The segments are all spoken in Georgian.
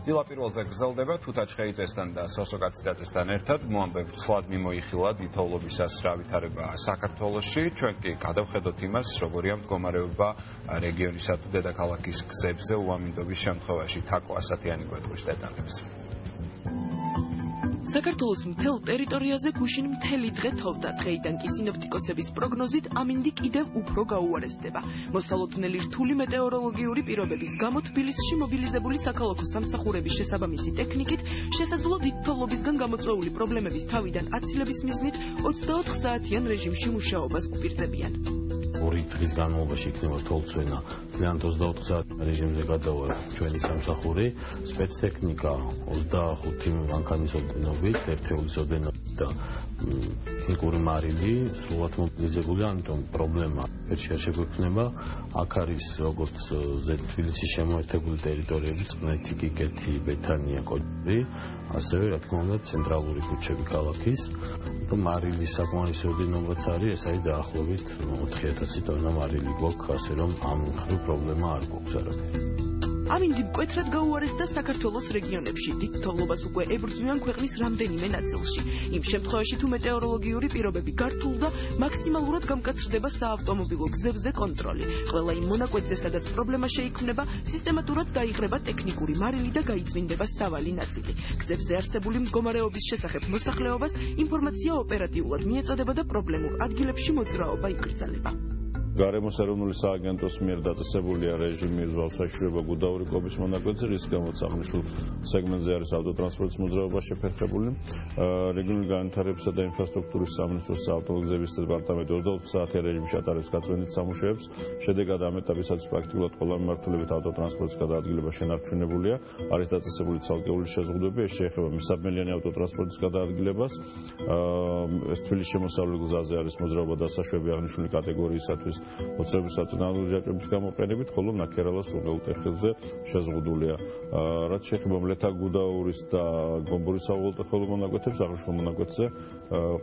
Დილაპირველზე გრძელდება თუთაჩხეიძესთან და სოსო კაციდაძესთან ერთად მოამბებთ სლად მიმოიხილა დიდთოვლობისას რა ვითარება საქართველოში. ჩვენ კი გადავხედოთ იმას, როგორია მდგომარეობა რეგიონისა თუ დედაქალაქის გზებზე უამინდობის შემთხვევაში. თაკო ასათიანი გვეტყვის დეტალებს. საქართველოს მთელ ტერიტორიაზე გუშინ მთელი დღე თოვდა. დღეიდან კი სინოპტიკოსების პროგნოზით ამინდი კიდევ უფრო გაუარესდება. მოსალოდნელი რთული მეტეოროლოგიური პირობების გამო თბილისში მობილიზებული საქალაქო სამსახურების შესაბამისი ტექნიკით შესაძლოა დიდთოვლობისგან გამოწვეული პრობლემების თავიდან აცილების მიზნით 24 საათიან რეჟიმში მუშაობას უპირდებიან. ორი დღის განმავლობაში იქნება თოვლსვენა. ძალიან 24 საათ რეჟიმზე გადავა ჩვენი სამსახური. სპეცტექნიკა 25 მანქანის ოდენობით, ერთეულის ოდენობით და ტექნიკური მარილი სრულად მობილიზებულია, ამიტომ პრობლემა ერთში არ შეგვექნება. აქ არის როგორც თბილისის შემოერთებული ტერიტორიები, წყნეთი, კიკეთი, ბეთანია, კოჭი, ასევე რა თქმა უნდა ცენტრალური ქუჩები ქალაქის. მარილის საკმარისი ოდენობაც არის, ეს არის დაახლოებით 4000 ტონა მარილი გვაქვს, ასე რომ ამ მხრივ პრობლემა არ გვაქვს არაფერი. ამინდი მკვეთრად გაუარესდა საქართველოს რეგიონებში. დიდთოვლობას უკვე ებრძვიან ქვეყნის რამდენიმე ნაწილში. იმ შემთხვევაში თუ მეტეოროლოგიური პირობები გართულდა, მაქსიმალურად გამკაცრდება საავტომობილო გზებზე კონტროლი. ყველა იმ მონაკვეთზე, სადაც პრობლემა შეიქმნება, სისტემატურად დაიხრება ტექნიკური მარილი და გაიწმინდება სავალი ნაწილი. გზებზე არსებული მდგომარეობის შესახებ მოსახლეობას ინფორმაცია ოპერატიულად მიეწოდება და პრობლემურ ადგილებში მოძრაობა იკრძალება. გარემოს ეროვნული სააგენტოს მიერ დაწესებულია რეჟიმი ზღვასაშუალება გუდაური კობის მონაკვეთზე, რის გამოც აღნიშნულ სეგმენტზე არის ავტოტრანსპორტის მოძრაობა შეფერხებული. რეგიონული განვითარებისა და ინფრასტრუქტურის სამინისტროს საავტოგზების დეპარტამენტი 24 საათიან რეჟიმში ატარებს გაწმენდით სამუშაოებს. შედეგად ამ ეტაპისაც პრაქტიკულად ყველა მიმართულებით ავტოტრანსპორტის გადაადგილება შენარჩუნებულია. არის დაწესებული ცალკეული შეზღუდვები, ეს შეეხება მისაბნელიანი ავტოტრანსპორტის გადაადგილებას. ეს თბილისის შემოსავლელ გზაზე არის მოძრაობა დასაშვები აღნიშნული კატეგორიისათვის მოძრაობის საწინააღმდეგო ჯაჭვების გამოყენებით, ხოლო ნაქერალას უღელტეხილზე შეზღუდულია. რაც შეეხება მლეთა გუდაურის და გომბორის საუღელტეხილო მონაკვეთებს, აღნიშნულ მონაკვეთზე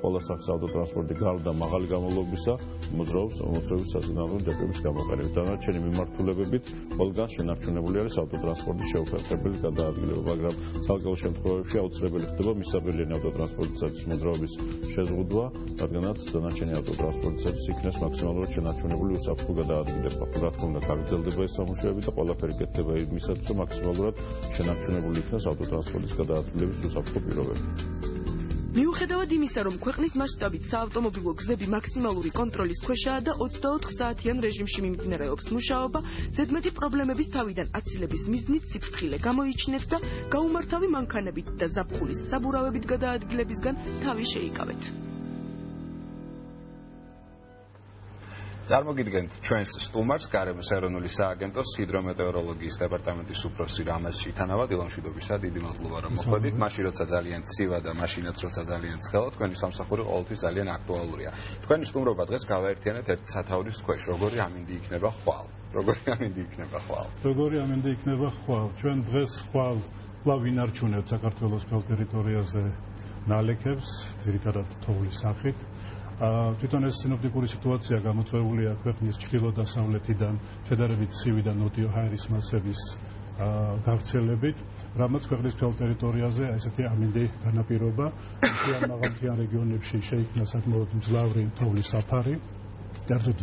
ყველა სახის ავტოტრანსპორტი გარდა მაღალი გამავლობისა მოძრაობს მოძრაობის საწინააღმდეგო ჯაჭვების გამოყენებით. დანარჩენი მიმართულებებით ყველგან შენარჩუნებული არის ავტოტრანსპორტის შეუფერხებელი გადაადგილება, მაგრამ ცალკეულ შემთხვევებში აუცილებელი ხდება მისაბნელიანი ავტოტრანსპორტისათვის მოძრაობის შეზღუდვა, რადგანაც დანარჩენი ავტოტრანსპორტისათვის იქნეს მაქსიმალურად შენარჩუნებული უსაფრთხო გადაადგილება. რა თქმა უნდა, გაგრძელდება ეს სამუშაოები და ყველაფერი კეთდება იმისათვის, რომ მაქსიმალურად შენარჩუნებული იქნას ავტოტრანსპორტის გადაადგილების უსაფრთხო პირობები. მიუხედავად იმისა, რომ ქვეყნის მასშტაბით საავტომობილო გზები მაქსიმალური კონტროლის ქვეშაა და 24 საათიან რეჟიმში მიმდინარეობს მუშაობა, ზედმეტი პრობლემების თავიდან აცილების მიზნით სიფრთხილე გამოიჩინეთ და გაუმართავი მანქანებით და ზაფხულის საბურავებით გადაადგილებისგან თავი შეიკავეთ. წარმოგიდგენთ ჩვენს სტუმარს, გარემოს ეროვნული სააგენტოს ჰიდრომეტეოროლოგიის დეპარტამენტის უფროსი რამაზ შითანავა. დილამშვიდობისა, დიდი მადლობა რომ მოხვედით. მაშინ როცა ძალიან ცივა და მაშინაც როცა ძალიან ცხელა, თქვენი სამსახური ყოველთვის ძალიან აქტუალურია. თქვენი სტუმრობა დღეს გავაერთიანეთ ერთ სათაურის ქვეშ. როგორი ამინდი იქნება ხვალ? როგორი ამინდი იქნება ხვალ? როგორი ამინდი იქნება ხვალ? ჩვენ დღეს ხვალ კვლავ ვინარჩუნებთ საქართველოს მთელ ტერიტორიაზე ნალექებს, ძირითადად თოვლის სახით. თვითონ ეს სინოპტიკური სიტუაცია გამოწვეულია ქვეყნის ჩრდილო-დასავლეთიდან შედარებით ცივი და ნოტიო ჰაერის მასების გავრცელებით, რამაც ქვეყნის მთელ ტერიტორიაზე ესეთი ამინდი განაპირობა. მაღალმთიან რეგიონებში შეიქმნა საკმაოდ მძლავრი თოვლის საფარი. კერძოდ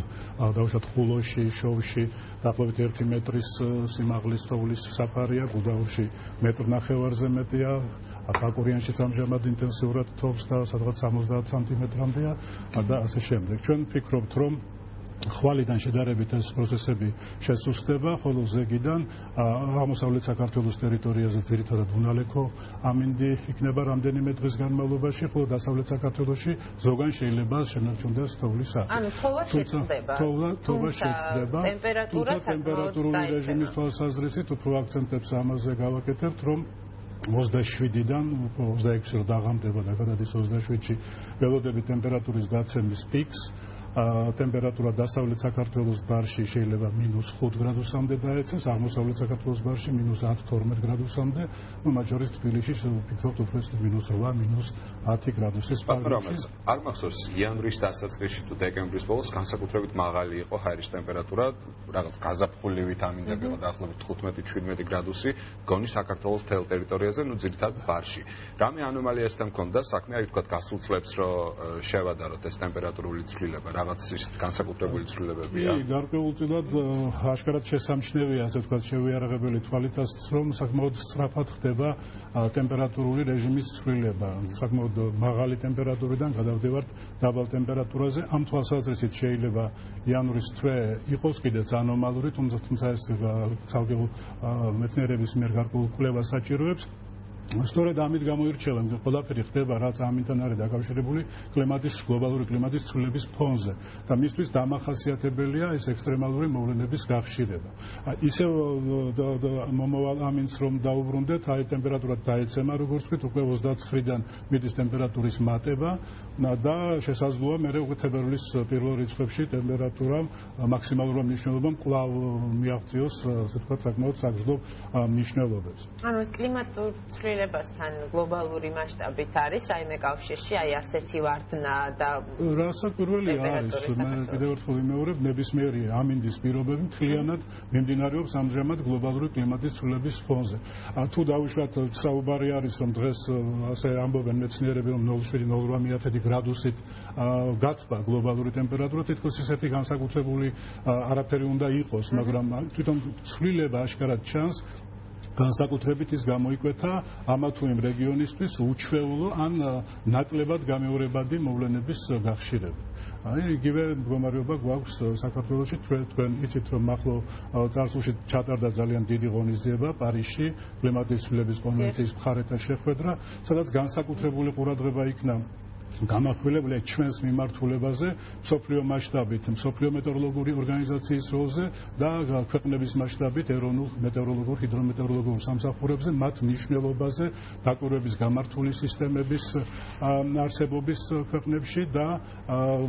დავუშვათ ხულოში, შოვში დაახლოებით 1 მეტრის სიმაღლის თოვლის საფარია, გუდაურში 1.5 მეტრზე მეტია, ბაკურიანშიც ამჟამად ინტენსიურად თოვს და სადღაც 70 სანტიმეტრამდეა და ასე შემდეგ. ჩვენ ვფიქრობთ, რომ ხვალიდან შედარებით ეს პროცესები შესუსტდება, ხოლო ზეგიდან აღმოსავლეთ საქართველოს ტერიტორიაზე ძირითადად უნალექო ამინდი იქნება რამდენიმე დღის განმავლობაში, ხოლო დასავლეთ საქართველოში ზოგან შეიძლება შენარჩუნდეს თოვლის სახე. ანუ თოვა შეწყდება. თოვა შეწყდება. ტემპერატურული რეჟიმის თვალსაზრისით უფრო აქცენტებს ამაზე გავაკეთებთ, რომ 27-დან 26-ში დაღამდება და გადადის 27-ში ველოდები ტემპერატურის გაცემის პიკს. ტემპერატურა დასავლეთ საქართველოს ბარში შეიძლება -5 გრადუსამდე დაეცეს, აღმოსავლეთ საქართველოს ბარში -10-12 გრადუსამდე, მათ შორის თბილისში ვფიქრობთ უფრო -8, -10 გრადუსის პარალელს. არ მახსოვს იანვრის დასაწყისში თუ დეკემბრის ბოლოს განსაკუთრებით მაღალი იყო ჰაერის ტემპერატურა, რაღაც გაზაფხულივით ამინდები იყო დაახლოებით 15-17 გრადუსი, გონი საქართველოს მთელ ტერიტორიაზე, ძირითადად ბარში. რამე ანომალიასთან მქონდა საქმე, აი ვთქვათ, გასულ წლებს რო შევადაროთ ეს ტემპერატურული ცვლილება, რაღაც ის განსაკუთრებული ცვლილებებია. კი, გარკვეულწილად აშკარად შესამჩნევია, ასე ვთქვათ, შევიარაღებელი თვალითაც, რომ საკმაოდ სწრაფად ხდება ტემპერატურული რეჟიმის ცვლილება. საკმაოდ მაღალი ტემპერატურიდან გადავდივართ დაბალ ტემპერატურაზე. ამ თვალსაზრისით შეიძლება იანვრის თვე იყოს კიდეც ანომალური, თუმცა ეს ცალკე მეცნიერების მიერ გარკვეულ კვლევას საჭიროებს. სწორედ ამით გამოირჩევა, რომ ყველაფერი ხდება, რაც ამიტომ არის დაკავშირებული კლიმატის გლობალური კლიმატის ცვლილების ფონზე და მისთვის დამახასიათებელია ეს ექსტრემალური მოვლენების გახშირება. ისევ მომავალ ამინდს რომ დაუბრუნდეთ, აი ტემპერატურა დაეცემა, როგორც ვთქვით, უკვე 29-დან მიდის ტემპერატურის მატება და შესაძლოა მე უკვე თებერვლის პირველ რიცხვებში ტემპერატურა მაქსიმალურად მნიშვნელობამ კვლავ მიაღწიოს, ასე ვთქვათ, საკმაოდ საგრძნობ მნიშვნელობებს. ანუ ეს კლიმატურ ცვლილებასთან გლობალური მასშტაბით არის რაიმე კავშირში, აი ასეთი ვარდნა და რასაკვირველია არის, მე კიდევ ერთხელ ვიმეორებ, ნებისმიერი ამინდის პირობები მთლიანად მიმდინარეობს ამჟამად გლობალური კლიმატის ცვლილების ფონზე. თუ დავუშვათ, საუბარი არის, რომ დღეს ასე ამბობენ მეცნიერები, რომ 0.7-0.8 გრადუსით გათბა გლობალური ტემპერატურა, თითქოს ისეთი განსაკუთრებული არაფერი უნდა იყოს, მაგრამ თვითონ ცვლილება აშკარად ჩანს. განსაკუთრებით ის გამოიკვეთა ამა თუ იმ რეგიონისთვის უჩვეულო ან ნაკლებად გამეორებადი მოვლენების გახშირება. აი იგივე მდგომარეობა გვაქვს საქართველოში, თქვენ იცით რომ ახლო წარსულში ჩატარდა ძალიან დიდი ღონისძიება პარიზში კლიმატის ცვლილების კონვენციის მხარეთა შეხვედრა, სადაც განსაკუთრებული ყურადღება იქნა გამახვილებულია ჩვენს მიმართულებაზე მსოფლიო მასშტაბით, მსოფლიო მეტეოროლოგიური ორგანიზაციის როლზე და ქვეყნების მასშტაბით ეროვნულ მეტეოროლოგიურ ჰიდრომეტეოროლოგიურ სამსახურებზე, მათ მნიშვნელობაზე, დაკვირვების გამართული სისტემების არსებობის ქვეყნებში და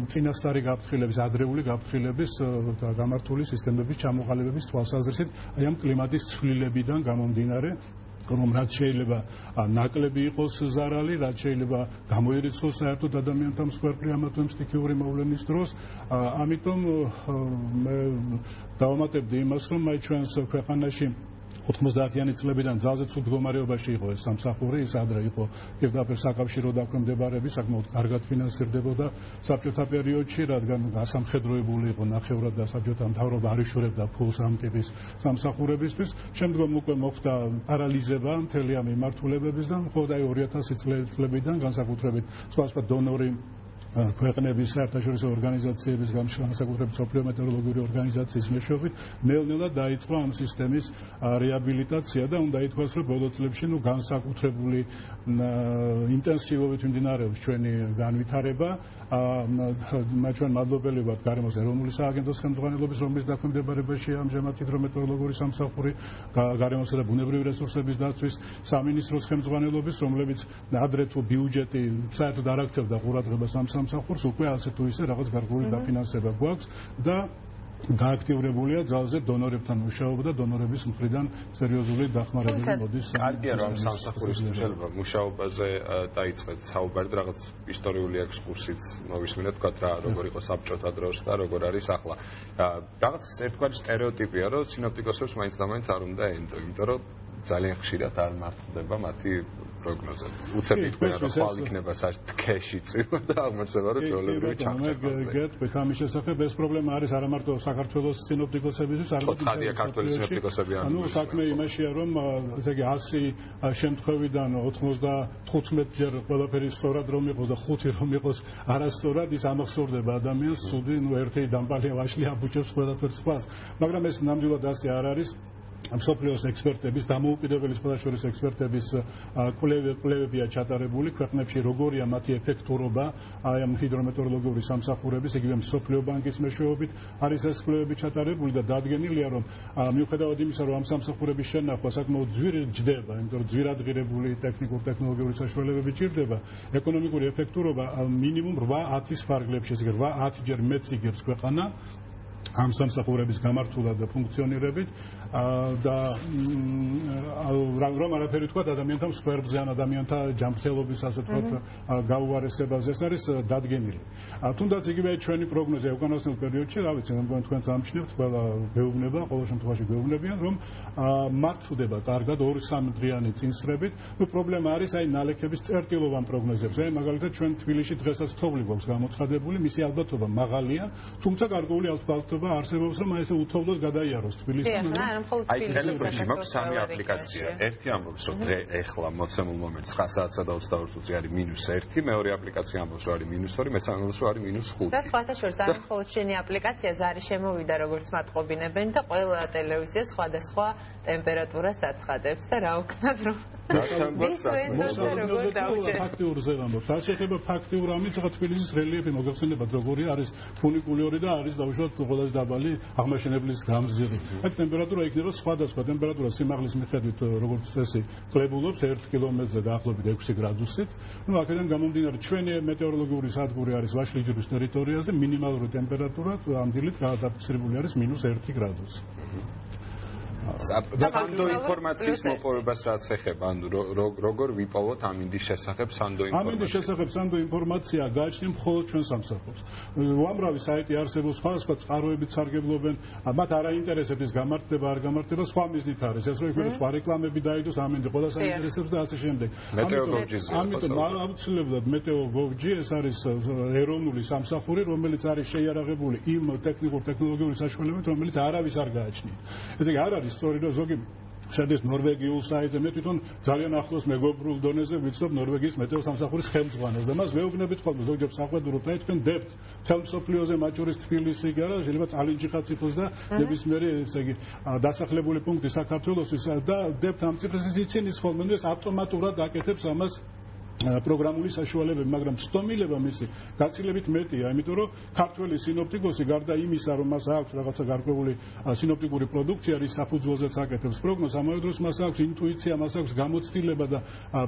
წინასწარი გაფრთხილების, ადრეული გაფრთხილების და გამართული სისტემების ჩამოყალიბების თვალსაზრისით, აი ამ კლიმატის ცვლილებიდან გამომდინარე, რომ რაც შეიძლება ნაკლები იყოს ზარალი, რაც შეიძლება გამოირიცხოს საერთოდ ადამიანთა მსხვერპლი ამა თუ იმ სტიქიური მოვლენის დროს, ამიტომ მე დავამატებდი იმას, რომ აი ჩვენს ქვეყანაში 90-იანი წლებიდან ძალზე ცუდ მდგომარეობაში იყო ეს სამსახური, ის ადრე იყო პირდაპირ საკავშირო დაქვემდებარების, საკმაოდ კარგად ფინანსირდებოდა საბჭოთა პერიოდში, რადგან ასამხედროებული იყო ნახევრად და საბჭოთა მთავრობა არ იშურებდა ფულს ამ ტიპის სამსახურებისთვის. შემდგომ უკვე მოხდა პარალიზება მთელი ამ მიმართულებების და მხოლოდ აი 2000 წლებიდან განსაკუთრებით სხვა დონორი ქვეყნების საერთაშორისო ორგანიზაციების განსაკუთრებით მსოფლიო მეტეოროლოგიური ორგანიზაციის მეშვეობით ნელ-ნელა დაიწყო ამ სისტემის რეაბილიტაცია და უნდა ითქვას, რომ ბოლო წლებში განსაკუთრებული ინტენსივობით მიმდინარეობს ჩვენი განვითარება. ჩვენ მადლობელი ვართ გარემოს ეროვნული სააგენტოს ხელმძღვანელობის, რომლის დაქვემდებარებაში ამჟამად ჰიდრომეტეოროლოგიური სამსახური, გარემოსა და ბუნებრივი რესურსების დაცვის სამინისტროს ხელმძღვანელობის, რომლებიც ადრე თუ ბიუჯეტი საერთოდ არ აქცევდა ყურადღებას ამ სამსახურს, უკვე ასე თუ ისე რაღაც გარკვეული დაფინანსება გვაქვს და გააქტიურებულია ძალზე დონორებთან მუშაობა და დონორების მხრიდან სერიოზული დახმარება მოდის. კარგია რომ სამსახურის მუშაობაზე დაიწყეთ საუბარი და რაღაც ისტორიული ექსკურსით მოვისმინეთ, თქვათ რა როგორ იყო საბჭოთა დროს და როგორ არის ახლა. რაღაც ერთგვარი სტერეოტიპია, რომ სინოპტიკოსებს მაინც და მაინც არ უნდა ენდო, იმიტომ რომ ძალიან ხშირად არ მართლდება მათი პროგნოზები. უცებ იყვნენ რომ ხვალ იქნება თქეში წვიმა და აღმოჩნდება რომ ჩვეულებრივი ჩახჭახაზე. გეტყვით ამის შესახებ, ეს პრობლემა არის არა მარტო საქართველოს სინოპტიკოსებისთვის, არამედ ხადია ქართული სინოპტიკოსები არ. ანუ საქმე იმაშია, რომ ესე იგი 100 შემთხვევიდან 95-ჯერ ყველაფერი სწორად რომ იყოს და 5 რომ იყოს არასწორად, ის ამახსოვრდება ადამიანს, ცუდი, ერთი დამპალია ვაშლი აბუჭებს ყველაფერს სხვას. მაგრამ ეს ნამდვილად ასე არ არის. მსოფლიოს ექსპერტების დამოუკიდებელი სხვადასხვა ექსპერტების კვლევებია ჩატარებული ქვეყნებში როგორია მათი ეფექტურობა აი ამ ჰიდრომეტეოროლოგიური სამსახურების იგივე მსოფლიო ბანკის მეშვეობით არის ეს კვლევები ჩატარებული და დადგენილია რომ მიუხედავად იმისა რომ ამ სამსახურების შენახვა საკმაოდ ძვირი ჯდება იმიტომ რომ ძვირადღირებული ტექნიკურ-ტექნოლოგიური საშუალებები ჭირდება ეკონომიკური ეფექტურობა მინიმუმ 8-10 ფარგლებში ესე იგი 8 ჯერ მეტს იგებს ქვეყანა ამ სამსახურების გამართულად და ფუნქციონირებით და რომ არაფერი თქვა ადამიანთა მსხვერპლზე ან ადამიანთა ჯანმრთელობის ასე ვთქვათ გაუარესებაზე ეს არის დადგენილი. თუნდაც იგივე ჩვენი პროგნოზია უკანასკნელ პერიოდში, რა ვიცი, მე თქვენს ამჩნევთ, ყველა გეუბნება, ყოველ შემთხვევაში გეუბნებიან, რომ მართლდება კარგად 2-3 დღიანი წინსრებით. ნუ პრობლემა არის აი ნალექების წერტილოვან პროგნოზებზე. აი მაგალითად ჩვენ თბილისში დღესაც თოვლი გვაქვს გამოცხადებული, მისი ალბათობა მაღალია, თუმცა გარკვეული ალბათობა არსებობს, რომ აი ესე უთოვლოდ გადაიაროს თბილისში. აი ტელეფონში მაქვს 3 აპლიკაცია. ერთი ამბობს, რომ დღე ეხლა მოცემულ მომენტს 9 საათსა და 22 წუთი არის -1, მეორე აპლიკაცია ამბობს, რომ არის -2, მესამე ამბობს, რომ არის -5. და სხვათა შორის არ მხოლოდ შენი აპლიკაცია ზარი შემოვიდა როგორც მათყობინებენ და ყველა ტელევიზია სხვადასხვა ტემპერატურას აცხადებს და რა ვქნათ რომ ფაქტიურზე ვამბობ. რაც შეეხება ფაქტიურ ამით, ახლა თბილისის რელიეფი მოგახსენებათ როგორი არის ფუნიკულიური და არის დაუშვათ ყველაზე დაბალი აღმაშენებლის გამზირი. აქ ტემპერატურა იქნება სხვადასხვა ტემპერატურა სიმაღლის მიხედვით როგორც წესი კლებულობს 1 კილომეტრზე დაახლოებით 6 გრადუსით. ნუ აქედან გამომდინარე ჩვენი მეტეოროლოგიური სადგური არის ვაშლიჯურის ტერიტორიაზე მინიმალური ტემპერატურა ამ დილით გადაფიქსირებული არის -1 გრადუსი. სანდო ინფორმაციის მოპოვებას რაც ეხება, ანუ როგორ ვიპოვოთ ამინდის შესახებ სანდო ინფორმაცია? ამინდის შესახებ სანდო ინფორმაცია გააჩნია მხოლოდ ჩვენ სამსახურს. უამრავი საიტი არსებობს, სხვადასხვა წყაროებით სარგებლობენ, მათ არ აინტერესებს ის გამართება, არ გამართება, სხვა მიზნით არის. ეს რომ იქ სხვა რეკლამები დაიდოს, ამინდი ყველას აინტერესებს და ასე შემდეგ. ამიტომ აუცილებლად მეტეო.gov.g ეს არის ეროვნული სამსახური, რომელიც არის შეიარაღებული იმ ტექნიკურ-ტექნოლოგიური საშუალებებით, რომელიც არავის არ გააჩნია. ესე იგი არ არის სწორი და ზოგი შედის ნორვეგიულ საიტზე მე თვითონ ძალიან ახლოს მეგობრულ დონეზე ვიცნობ ნორვეგიის მეტეო სამსახურის ხელმძღვანელს და მას ვეუბნებით ხოლმე ზოგჯერ საყვედუროთ აი თქვენ დებთ მთელ მსოფლიოზე მათ შორის თბილისი კი არა შეიძლება წალინჯიხაც იყოს და ნებისმიერი ესე იგი დასახლებული პუნქტი საქართველოსის და დებთ ამ ციფრებს იცინიც ხოლმე ეს ავტომატურად აკეთებს ამას პროგრამული საშუალებები, მაგრამ სტომილება მისი გაცილებით მეტია, იმიტომ რომ ქართველი სინოპტიკოსი გარდა იმისა, რომ მას აქვს რაღაცა გარკვეული სინოპტიკური პროდუქცია, რის საფუძველზეც აკეთებს პროგნოზს, ამავე დროს მას აქვს ინტუიცია, მას აქვს გამოცდილება და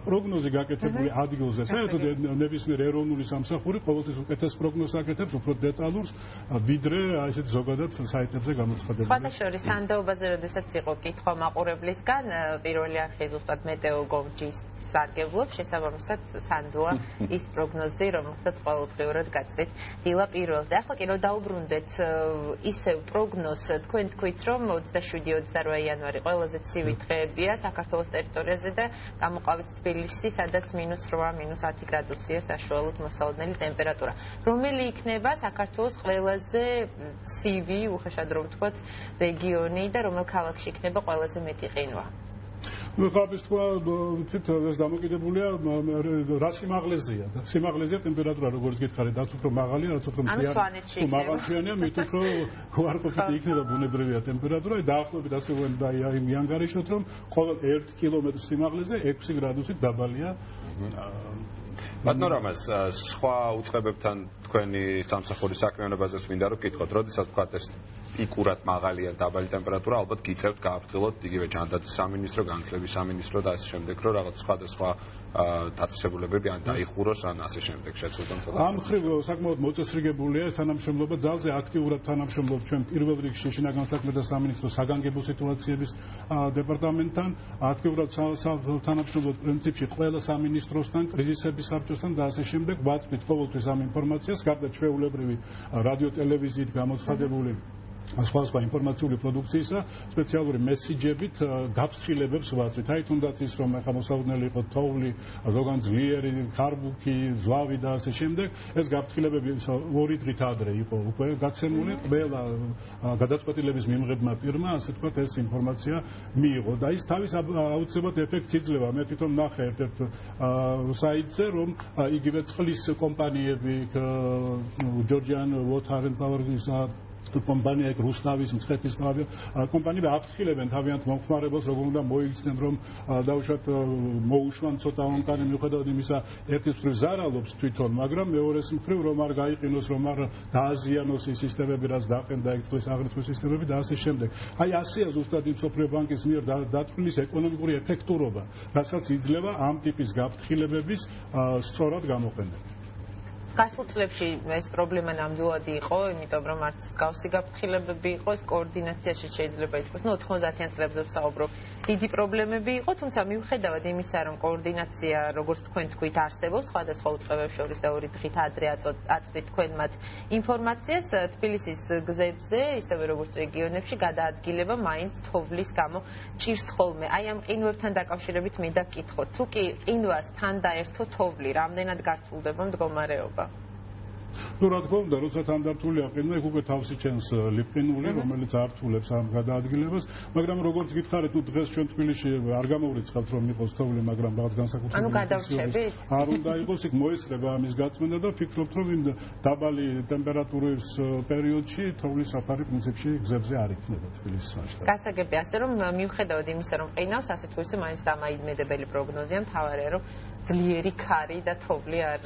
პროგნოზი გაკეთებული ადგილზე. საერთოდ ნებისმიერ ეროვნული სამსახური ყოველთვის უკეთეს პროგნოზს აკეთებს, უფრო დეტალურს, ვიდრე ასეთ ზოგადად საიტებზე გამოცხადებული. სხვათა შორის სანდოობაზე, როდესაც იყო კითხვა მაყურებლისგან, პირველი არხი ზუსტად მეტეო.gov.g-ს სარგებლობს, შესაბამისად სანდოა ის პროგნოზი, რომელსაც ყოველდღიურად გაცდით დილა პირველზე. ახლა კი რომ დაუბრუნდეთ ისევ პროგნოზს, თქვენ თქვით, რომ 27-28 იანვარი ყველაზე ცივი დღეებია საქართველოს ტერიტორიაზე და გამოყავით თბილისში, სადაც -8, -10 გრადუსია საშუალოდ მოსალოდნელი ტემპერატურა. რომელი იქნება საქართველოს ყველაზე ცივი, უხეშად რომ ვთქვათ, რეგიონი და რომელ ქალაქში იქნება ყველაზე მეტი ყინვა? ნუ ხაბის თქვა, ვიცით, ეს დამოკიდებულია რა სიმაღლეზეა და სიმაღლეზეა ტემპერატურა როგორც გითხარით, რაც უფრო მაღალია, რაც უფრო მაღალშიანია, მით უფრო გვარყოფით იქნება ბუნებრივია ტემპერატურა, დაახლოებით ასე ვთქვათ, აი მიანგარიშოთ, რომ ყოველ 1 კილომეტრ სიმაღლეზე 6 გრადუსით დაბალია. ბატონო რამაზ, სხვა უწყებებთან თქვენი სამსახურის საქმიანობაზეც მინდა რომ გითხოთ, როდესაც ვთქვათ ეს პიკურად მაღალია დაბალი ტემპერატურა, ალბათ გიწევთ გააფრთხილოთ იგივე ჯანდაცვის სამინისტრო, განათლების სამინისტრო და ასე შემდეგ, რომ რაღაც სხვადასხვა დაწესებულებები ან დაიხუროს, ან ასე შემდეგ შეცვლონ. ამ მხრივ საკმაოდ მოწესრიგებულია ეს თანამშრომლობა, ძალზე აქტიურად თანამშრომლობთ ჩვენ პირველ რიგში შინაგან საქმეთა სამინისტროს საგანგებო სიტუაციების დეპარტამენტთან, აქტიურად თანამშრომლობთ პრინციპში ყველა სამინისტროსთან, კრიზისების საბჭოსთან და ასე შემდეგ. ვაწვდით ყოველთვის ამ ინფორმაციას, გარდა ჩვეულებრივი რადიო ტელევიზიით გამოცხადებული სხვადასხვა ინფორმაციული პროდუქციისა, სპეციალური მესიჯებით გაფრთხილებებს ვაწვით. აი თუნდაც ის რომ ახლა მოსალოდნელი იყო თოვლი, ზოგან ძლიერი, ქარბუქი, ზვავი და ასე შემდეგ, ეს გაფრთხილებები 2 დღით ადრე იყო უკვე გაცემული, ყველა გადაწყვეტილების მიმღებმა პირმა, ასე ვთქვათ, ეს ინფორმაცია მიიღო და ის თავის აუცილებლად ეფექტს იძლევა. მე თვითონ ნახე ერთ-ერთ საიტზე, რომ იგივე წყლის კომპანიები, Georgian Water and Power კომპანია ეგ რუსნავის მცხეთის კომპანიები აფრთხილებენ თავიანთ მომხმარებელს, როგორ უნდა მოიქცნენ, რომ დაუშვათ მოუშვან ცოტა ონკანი მიუხედავად იმისა, ერთის მხრივ ზარალობს თვითონ, მაგრამ მეორეს მხრივ რომ არ გაიყინოს, რომ არ დააზიანოს ის სისტემები, რაც დაყენდა ეგ წყლის აღრიცხვის სისტემები და ასე შემდეგ. აი ასეა ზუსტად იმ მსოფლიო ბანკის მიერ დათვლის ეკონომიკური ეფექტურობა, რასაც იძლევა ამ ტიპის გაფრთხილებების სწორად გამოყენება. გასულ წლებში ეს პრობლემა ნამდვილად იყო, იმიტომ რომ არც მსგავსი გაფრთხილებები იყო, ეს კოორდინაციაში შეიძლება ითქვას, 90-იან წლებზე ვსაუბრობ, დიდი პრობლემები იყო, თუმცა მიუხედავად იმისა, რომ კოორდინაცია, როგორც თქვენ თქვით, არსებობს სხვადასხვა უწყებებს შორის და ორი დღით ადრე აწვდით თქვენ მათ ინფორმაციას, თბილისის გზებზე, ისევე როგორც რეგიონებში, გადაადგილება მაინც თოვლის გამო ჭირს ხოლმე. აი ამ ყინვებთან დაკავშირებით მინდა გკითხოთ, თუ კი ყინვას თან დაერთო თოვლი, რამდენად გართულდება მდგომარეობა? Ну, რა თქმა უნდა, როცა თანდართულია ყინვა, იქ უკვე თავსი ჩენს ლიპყინული, რომელიც ართულებს ამ გადაადგილებას, მაგრამ როგორც გითხარით, თუ დღეს ჩვენ თბილისში არ გამოვრიცხავთ, რომ იყოს თოვლი, მაგრამ რაღაც განსაკუთრებული ანუ გადავრჩებით? არ უნდა იყოს, იქ მოესწრება ამის გაწმენდა და ვფიქრობთ, რომ იმ დაბალი ტემპერატურის პერიოდში თოვლის საფარი პრინციპში გზებზე არ იქნება თბილისის მასშტაბით. გასაგები ასე, რომ მიუხედავად იმისა, რომ ყინავს, ასე თუ ისე მაინც დამაიდმედებელი პროგნოზია, მთავარია, რომ ძლიერი ქარი და თოვლი არ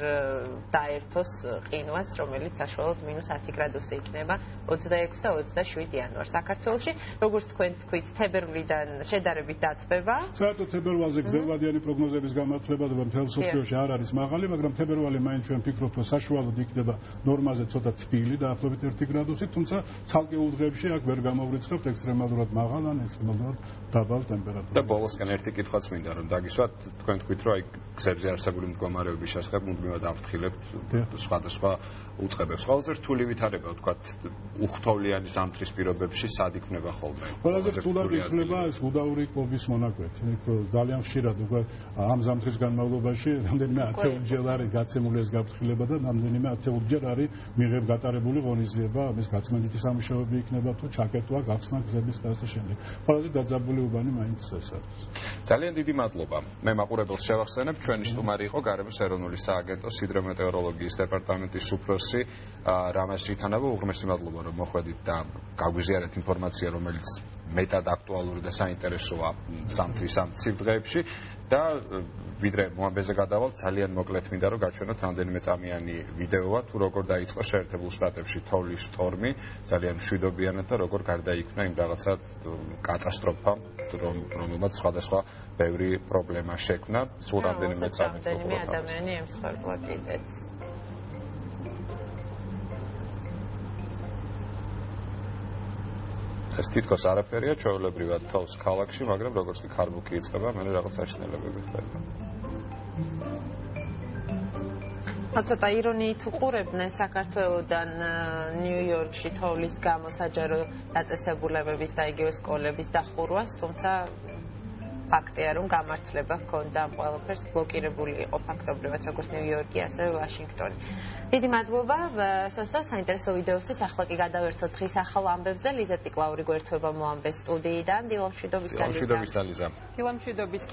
დაერთოს ყინვას, რომელიც საშუალოდ -10 გრადუსი იქნება 26 და 27 იანვარს საქართველოში. როგორც თქვენ თქვით, თებერვლიდან შედარებით დათბება. საერთოდ თებერვალზე გრძელვადიანი პროგნოზების გამართლებადობა მთელ მსოფლიოში არ არის მაღალი, მაგრამ თებერვალი მაინც ჩვენ ვფიქრობთ, რომ საშუალოდ იქნება ნორმაზე ცოტა თბილი, დაახლოებით 1 გრადუსი, თუმცა ცალკეულ დღეებში აქ ვერ გამოვრიცხავთ ექსტრემალურად მაღალ ან ექსტრემალურად დაბალ ტემპერატურას. და ბოლოსკენ ერთი კითხვაც მინდა რომ დაგისვათ, თქვენ თქვით, რომ აი გზებზე არსებული მდგომარეობის შესახებ მუდმივად ამფრთხილებთ სხვადასხვა უწყებებს. ყველაზე რთული ვითარება, ვთქვათ, უხთოვლიანი ზამთრის პირობებში სად იქნება ხოლმე? ყველაზე რთულად იქნება ეს უდაური კვების მონაკვეთი. იქ ძალიან ხშირად უკვე ამ ზამთრის განმავლობაში რამდენიმე ათეულჯერ არის გაცემული ეს გაფრთხილება და რამდენიმე ათეულჯერ არის გატარებული ღონისძიება, ამის გაწმენდითი სამუშაოები იქნება თუ ჩაკეტვა, გახსნა გზების და ასე შემდეგ. ყველაზე დაძაბული უბანი მაინც ეს არის. ძალიან დიდი მადლობა. მე მაყურებელს შევახსენებ, ჩვენი სტუმარი იყო გარემოს ეროვნული სააგენტოს ჰიდრომეტეოროლოგიის დეპარტამენტის უფროსი რამაზ ჟითანავა. უღრმესი მადლობა, რომ მოხვედით და გაგვიზიარეთ ინფორმაცია, რომელიც მეტად აქტუალური და საინტერესოა ზამთრის ამ ცივ დღეებში და ვიდრე მოამბეზე გადავალთ, ძალიან მოკლედ მინდა რომ გაჩვენოთ რამდენიმე წამიანი ვიდეოა თუ როგორ დაიწყო შეერთებულ შტატებში თოვლის შტორმი, ძალიან მშვიდობიანად და როგორ გარდაიქმნა იმ რაღაცა კატასტროფამ, რომელმაც სხვადასხვა ბევრი პრობლემა შექმნა. სულ რამდენიმე წამი ადამიანი ემსხვერპლა კიდეც. ეს თითქოს არაფერია, ჩვეულებრივად თოვს ქალაქში, მაგრამ როგორც კი ქარბუქი იწყება, მე რაღაც აშნელებები ხდება. ცოტა ირონიით უყურებდნენ საქართველოდან ნიუ-იორკში თოვლის გამო საჯარო დაწესებულებების და იგივე სკოლების დახურვას, თუმცა ფაქტია, რომ გამართლება ჰქონდა ამ ყველაფერს, ბლოკირებული იყო ფაქტობრივად როგორც ნიუ-იორკი, ასევე ვაშინგტონი. დიდი მადლობა საინტერესო ვიდეოსთვის. ახლა კი გადავერთოთ დღის ახალ ამბებზე. ლიზა ციკლაური გვერდება მოამბეს სტუდიიდან. დილამშვიდობის სალიზა. დილამშვიდობის.